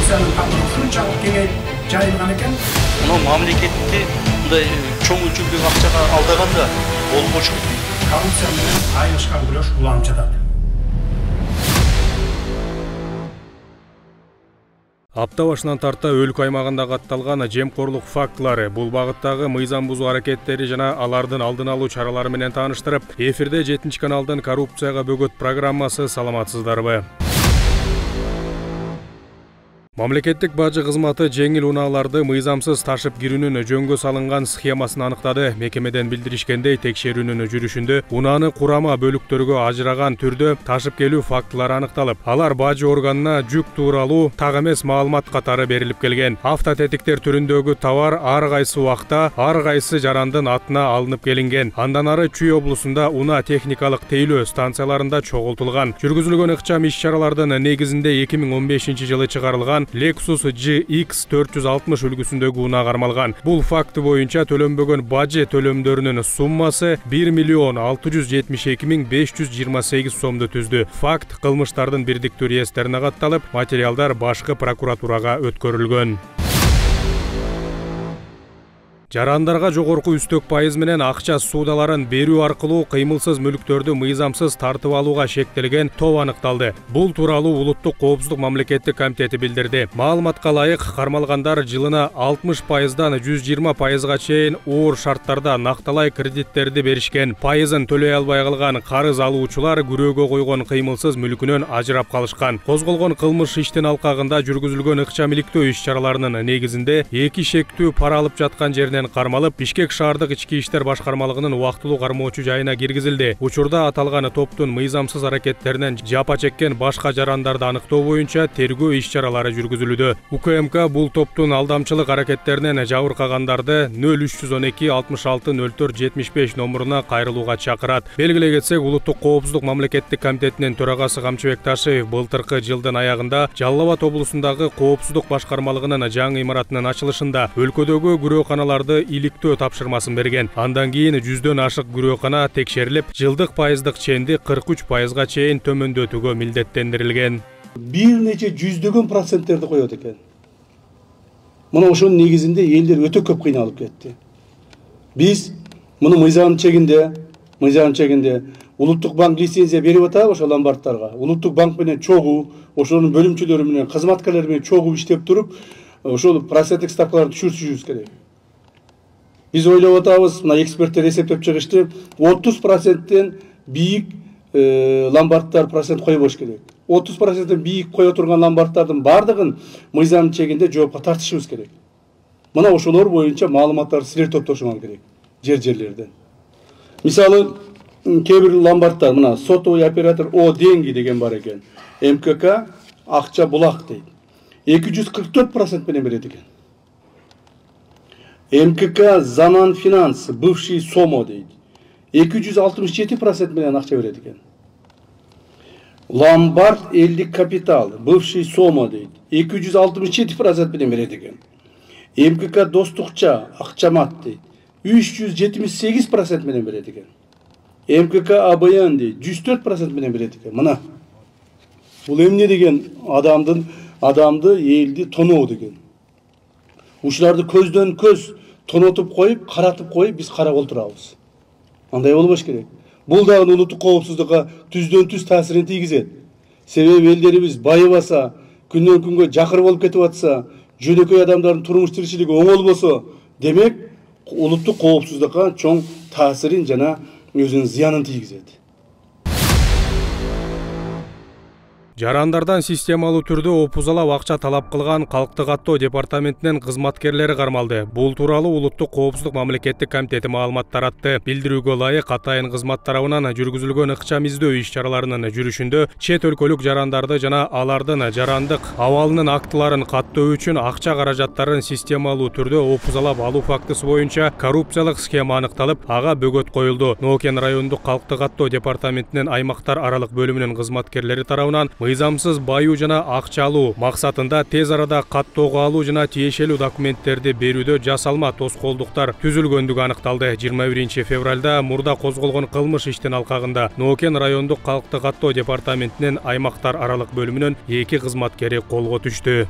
коррупциянын камыры ушунчалык кеңейип жайылган экен. Мына мамлекетти мындай чоң өлчөмдөгү акчага алдаганда болбошу. Коррупция менен айылышкан күрөш улам жатат. Апта башынан тарта өлкө аймагында катталган жемкорлук фактылары, бул багыттагы мыйзам бузуу аракеттери жана алардын алдын алуу чаралары менен тааныштырып, эфирде 7 каналдын коррупцияга бөгөт программасы. Саламатсыздарбы? Мамлекеттик бажы кызматы жеңил унааларды мыйзамсыз ташып кирүүнүн жөнгө салынган схемасын аныктады. Мекемеден билдиришкендей, текшерүүнүн жүрүшүндө унааны курама бөлүктөргө ажыраган түрдө ташып келүү фактылары аныкталып, алар бажы органына жүк тууралуу так эмес маалымат катары берилип келген. Автотетиктер түрүндөгү товар ар кайсы убакта, ар кайсы жарандын атына алынып келинген. Андан ары Чүй облусунда унаа техникалык тейлөө станцияларында чогултулган. Жүргүзүлгөн ыкчам иш-чаралардын негизинде 2015-жылы чыгарылган Lexus GX 460 үлгүсүндөгү унаа кармалган. Бул факты боюнча төлөнбөгөн бажы төлөмдөрүнүн суммасы 1.672.528 сомду түздү. Факт кылмыштардын бирдиктүү реестерине катталып, материалдар башкы прокуратурага өткөрүлгөн. Жарандарга жогорку үстөк пайыз менен акча суудаларын берүү аркылуу кыймылсыз мүлктөрдү мыйзамсыз тартып алууга шектелген топ аныкталды. Бул тууралуу Улуттук коопсуздук мамлекеттик комитети билдирди. Маалыматка ылайык, кармалгандар жылына 60%дан 120%га чейин оор шарттарда накталай кредиттерди беришкен. Пайызын төлөй албай калган карыз алуучулар күрөөгө койгон кыймылсыз мүлкүнөн ажырап калышкан. Козголгон кылмыш иштин алкагында жүргүзүлгөн ыкчам иликтөө иш-чараларынын негизинде 2 шектүү пара алып жаткан жеринен кармалып, Бишкек шаардык ички иштер башкармалыгынын убактылуу кармоочу жайына киргизилди. Учурда аталган топтун мыйзамсыз аракеттеринен жапа чеккен башка жарандарды аныктоо боюнча тергөө иш-чаралары жүргүзүлүүдө. УКМК бул топтун алдамчылык аракеттеринен жабыркагандарды 0312 66 04 75 номуруна кайрылууга чакырат. Белгилей кетсек, Улуттук коопсуздук мамлекеттик комитетинин төрагасы Камчыбек Ташиев былтыркы жылдын аягында Жалал Абад облусундагы коопсуздук башкармалыгынын жаңы имаратынын ачылышында өлкөдөгү күрөөканаларды иликтөө тапшырмасын берген. Андан кийин 100дөн ашык күрөөкана текшерилип, жылдык пайыздык ченди 43%га чейин төмөндөтүүгө милдеттендирилген. Бир нече жүздөгөн проценттерди коет экен. Мына ошонун негизинде элдер өтө көп кыйналып кетти. Биз муну мыйзам чегинде Улуттук банк лицензия берип атабы ошол ломбардтарга. Улуттук банк менен чогуу, ошонун бөлүмчөлөрү менен, кызматкерлери менен чогуу иштеп туруп, ошол проценттик ставкаларды түшүрүшүбүз керек. Биз ойлоп атабыз, мына эксперттер эсептеп чыгышты, 30%тен бийик ломбардтар процент койбош керек. 30%тен бийик кое турган ломбардтардын бардыгын мыйзам чегинде жоопко тартышыбыз керек. Мына ошолор боюнча маалыматтарды силер топтошуңар керек жерлерден. Мисалы, кээ бир ломбардтар, мына сотовый оператор О деньги деген бар экен. МКК акча булак дейт. 244% менен берет экен. МКК Заман Финанс, бывший Сомо дейт. 267% менен акча берет экен. Ломбард Элдик Капитал, бывший Сомо дейт. 267% менен берет экен. МКК Достукча, Акчамат дейт. 378% менен берет экен. МКК АБН дейт. 104% менен берет экен. Мына. Бул эмне деген адамды элди тоноо деген. Ушуларды көздөн көз тонотуп коюп, каратып коюп, биз карап отурабыз. Андай болбош керек. Бул дагы улуттук коопсуздукка түздөн түз таасирин тийгизет. Себеби элдерибиз байыбаса, күндөн күнгө жакыр болуп кетип атса, жөнөкөй адамдардын турмуш тиричилиги оңолбосо, демек улуттук коопсуздукка чоң таасирин жана өзүнүн зыянын тийгизет. Жарандардан системалуу түрдө опузалап акча талап кылган Калктык аттоо департаментинин кызматкерлери кармалды. Бул тууралуу Улуттук коопсуздук мамлекеттик комитети маалымат таратты. Билдирүүгө ылайык, атайын кызмат тарабынан жүргүзүлгөн ыкчам издөө иш-чараларынын жүрүшүндө чет өлкөлүк жарандарды жана алардын жарандык абалынын актыларын каттоо үчүн акча каражаттарын системалуу түрдө опузалап алуу фактысы боюнча коррупциялык схема аныкталып, ага бөгөт коюлду. Нокен райондук Калктык аттоо департаментинин аймактар аралык бөлүмүнүн кызматкерлери тарабынан мыйзамсыз баюу жана акча алуу максатында тез арада каттоого алуу жана тиешелүү документтерди берүүдө жасалма тоскоолдуктар түзүлгөндүгү аныкталды. 21 февралда мурда козголгон кылмыш иштин алкагында Нокен райондук Калктык аттоо департаментинин аймактар аралык бөлүмүнүн 2 кызматкери колго түштү.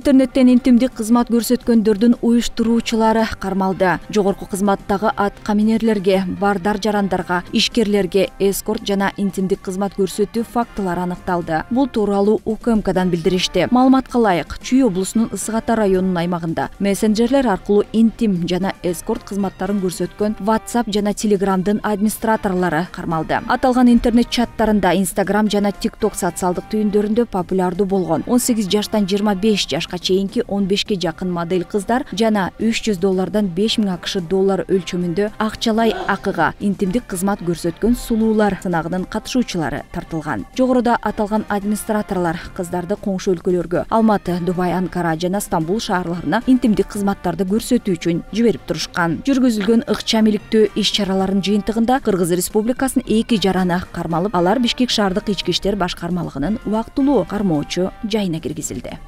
Интернеттен интимдик кызмат көрсөткөндөрдүн уюштуруучулары кармалды. Жогорку кызматтагы атка минерлерге, бардар жарандарга, ишкерлерге эскорт жана интимдик кызмат көрсөтүү фактылары аныкталды. Бул тууралуу УКМКдан билдиришти. Маалыматка ылайык, Чүй облусунун Ысык Ата районунун аймагында мессенджерлер аркылуу интим жана эскорт кызматтарын көрсөткөн WhatsApp жана Telegramдын администраторлору кармалды. Аталган интернет чаттарында Instagram жана TikTok социалдык түйүндөрүндө популярдуу болгон 18 жаштан 25 жашка чейинки 15ке жакын модель кыздар жана $300 5000 АКШ доллар өлчөмүндө акчалай акыга интимдик кызмат көрсөткөн сулуулар сынагынын катышуучулары тартылган. Жогоруда аталган администраторлор кыздарды коңшу өлкөлөргө Алматы, Дубай, Анкара жана Стамбул шаарларына интимдик кызматтарды көрсөтүү үчүн жиберип турушкан. Жүргүзүлгөн ыкчам иликтөө иш-чараларынын жыйынтыгында Кыргыз Республикасынын 2 жараны кармалып, алар Бишкек шаардык ички иштер башкармалыгынын убактылуу кармоочу жайына киргизилди.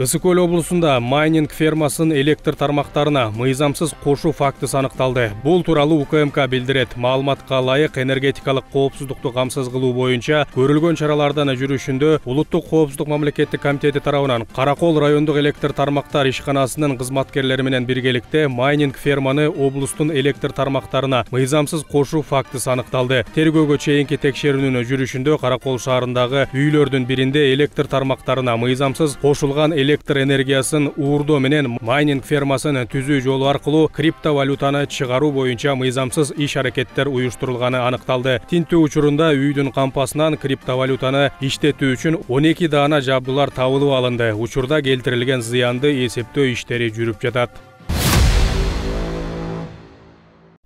Ысык Көл облусунда майнинг фермасынын электр тармактарына мыйзамсыз кошуу фактысы аныкталды. Бул тууралуу УКМК билдирет. Маалыматка ылайык, энергетикалык коопсуздукту камсыз кылуу боюнча көрүлгөн чаралардын жүрүшүндө Улуттук коопсуздук мамлекеттик комитети тарабынан Каракол райондук электр тармактар ишканасынын кызматкерлери менен биргеликте майнинг ферманы облустун электр тармактарына мыйзамсыз кошуу фактысы аныкталды. Тергөөгө чейинки текшерүүнүн жүрүшүндө Каракол шаарындагы үйлөрдүн биринде электр тармактарына мыйзамсыз кошулган электр энергиясын уурдоо менен майнинг фермасын түзүү жолу аркылуу криптовалютаны чыгаруу боюнча мыйзамсыз иш-аракеттер уюштурулганы аныкталды. Тинтүү учурунда үйдүн кампасынан криптовалютаны иштетүү үчүн 12 даана жабдуулар табылып алынды. Учурда келтирилген зыянды эсептөө иштери жүрүп жатат.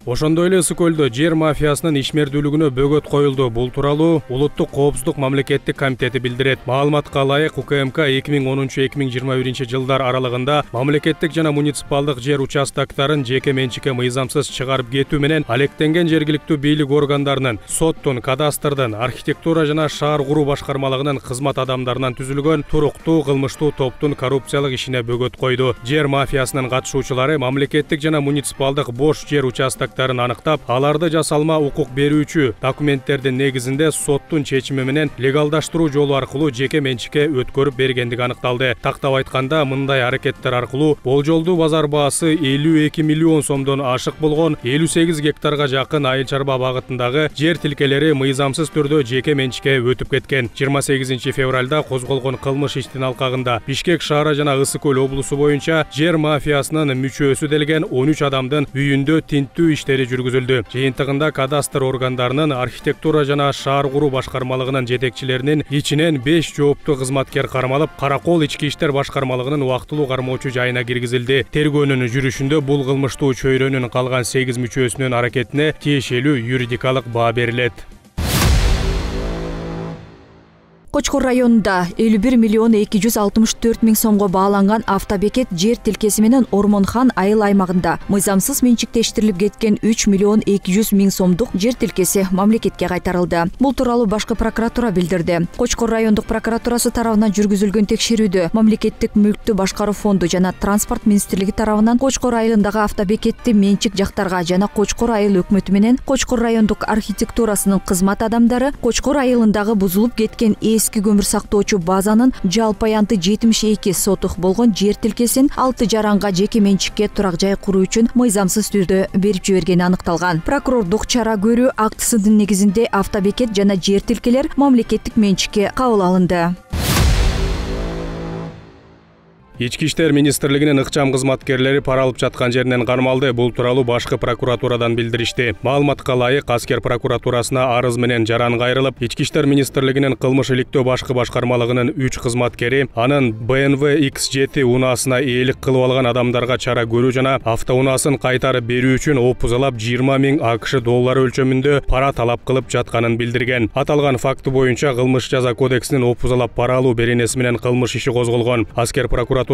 Ошондой эле Ысык Көлдө жер мафиясынын ишмердүүлүгүнө бөгөт коюлду. Бул тууралуу Улуттук коопсуздук мамлекеттик комитети билдирет. Маалыматка ылайык, УКМК 2010-2021 жылдар аралыгында мамлекеттик жана муниципалдык жер участоктарын жеке менчикке мыйзамсыз чыгарып кетүү менен алектенген жергиликтүү бийлик органдарынын, соттун, кадастрдын, архитектура жана шаар куруу башкармалыгынын кызмат адамдарынан түзүлгөн туруктуу кылмыштуу топтун коррупциялык ишине бөгөт койду. Жер мафиясынын катышуучулары мамлекеттик жана муниципалдык бош жер участоктарын аныктап, аларды жасалма укук берүүчү документтердин негизинде соттун чечими менен легалдаштыруу жолу аркылуу жеке менчикке өткөрүп бергендиги аныкталды. Тактап айтканда, мындай аракеттер аркылуу болжолдуу базар баасы 52 миллион сомдон ашык болгон 58 гектарга жакын айыл чарба багытындагы жер тилкелери мыйзамсыз түрдө жеке менчикке өтүп кеткен. 28 февралда козголгон кылмыш иштин алкагында Бишкек шаары жана Ысык Көл облусу боюнча жер мафиясынын мүчөсү делген 13 адамдын үйүндө тинтүү иштери жүргүзүлдү. Жыйынтыгында кадастр органдарынын, архитектура жана шаар куруу башкармалыгынын жетекчилеринин ичинен 5 жооптуу кызматкер кармалып, Каракол ички иштер башкармалыгынын убактылуу кармоочу жайына киргизилди. Тергөөнүн жүрүшүндө бул кылмыштуу чөйрөнүн калган 8 мүчөсүнүн аракетине тиешелүү юридикалык баа берилет. Кочкор районунда 51 миллион 264 миң сомго бааланган автобекет жер тилкеси менен Ормонхан айыл аймагында мыйзамсыз менчиктештирилип кеткен 3 миллион 200 миң сомдук жер тилкеси мамлекетке кайтарылды. Бул тууралуу башкы прокуратура билдирди. Кочкор райондук прокуратурасы тарабынан жүргүзүлгөн текшерүүдө мамлекеттик мүлктү башкаруу фонду жана транспорт министрлиги тарабынан Кочкор айылындагы автобекетти менчик жактарга жана Кочкор айыл өкмөтү менен Кочкор райондук архитектурасынын кызмат адамдары Кочкор айылындагы бузулуп кеткен эски көмүр сактоочу базанын жалпы аянты 72 сотук болгон жер тилкесин 6 жаранга жеке менчикке турак жай куруу үчүн мыйзамсыз түрдө берип жибергени аныкталган. Прокурордук чара көрүү актысынын негизинде автобекет жана жер тилкелер мамлекеттик менчикке кабыл алынды. Ички иштер министрлигинин ыкчам кызматкерлери пара алып жаткан жеринен кармалды. Бул тууралуу башкы прокуратурадан билдиришти. Маалыматка ылайык, Аскер прокуратурасына арыз менен жаран кайрылып, Ички иштер министрлигинин кылмыш иликтөө башкы башкармалыгынын 3 кызматкери анын BMW X7 унаасына ээлик кылып алган адамдарга чара көрүү жана автоунаасын кайтарып берүү үчүн опузалап 20 миң АКШ доллары өлчөмүндө пара талап кылып жатканын билдирген. Аталган факты боюнча кылмыш жаза кодексинин опузалап пара алуу беренеси менен кылмыш иши козголгон. Аскер прокуратурасы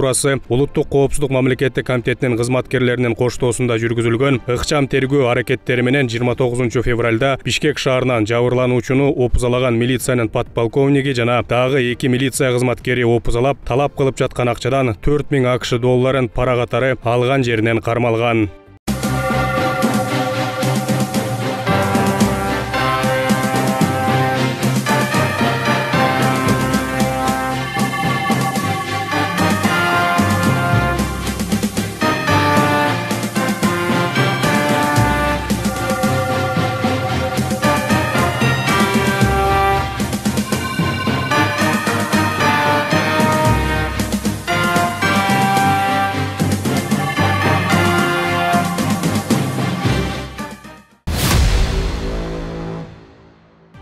Улуттук коопсуздук мамлекеттик комитетинин кызматкерлеринин коштоосунда жүргүзүлгөн ыкчам тергөө аракеттери менен 29 февралда Бишкек шаарынан жабырлануучуну опузалаган милициянын подполковниги жана дагы 2 милиция кызматкери опузалап талап кылып жаткан акчадан 4 миң АКШ долларын пара катары алган жеринен кармалган.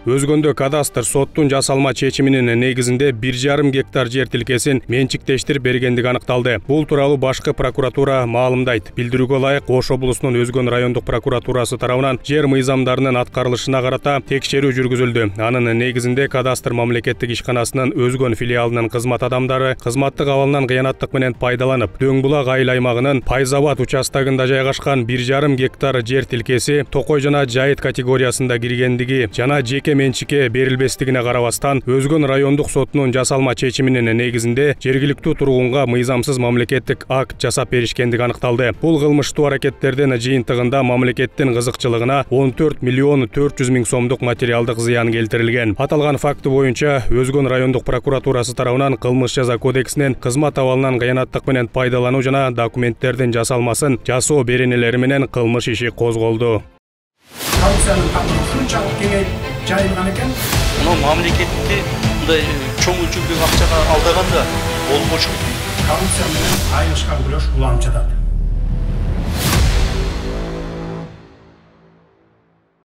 Өзгөндө кадастр соттун жасалма чечиминин негизинде 1,5 гектар жер тилкесин менчиктештирип бергендиги аныкталды. Бул тууралуу башкы прокуратура маалымдайт. Билдирүүгө ылайык, Ош облусунун Өзгөн райондук прокуратурасы тарабынан жер мыйзамдарынын аткарылышына карата текшерүү жүргүзүлдү. Анын негизинде кадастр мамлекеттик ишканасынын Өзгөн филиалынын кызмат адамдары кызматтык абалынан кыянаттык менен пайдаланып, Дөң булак айыл аймагынын Пайзабад участогунда жайгашкан 1,5 гектар жер тилкеси токой жана жайыт категориясында киргендиги жана жеке менчикке берилбестигине карабастан, Өзгөн райондук сотунун жасалма чечиминин негизинде жергиликтүү тургунга мыйзамсыз мамлекеттик акт жасап беришкендиги аныкталды. Бул кылмыштуу аракеттердин жыйынтыгында мамлекеттин кызыкчылыгына 14 миллион 400 миң сомдук материалдык зыян келтирилген. Аталган факты боюнча Өзгөн райондук прокуратурасы тарабынан кылмыш жаза кодексинин кызмат абалынан кыянаттык менен пайдалануу жана документтердин жасалмасын жасоо беренелери менен кылмыш иши козголду. Коррупциянын камыры ушунчалык кеңейип жайылган экен. Мына мамлекетти мындай чоң өлчөмдөгү акчага алдаганда болбошу. Коррупция менен айылышкан күрөш уламчыдат.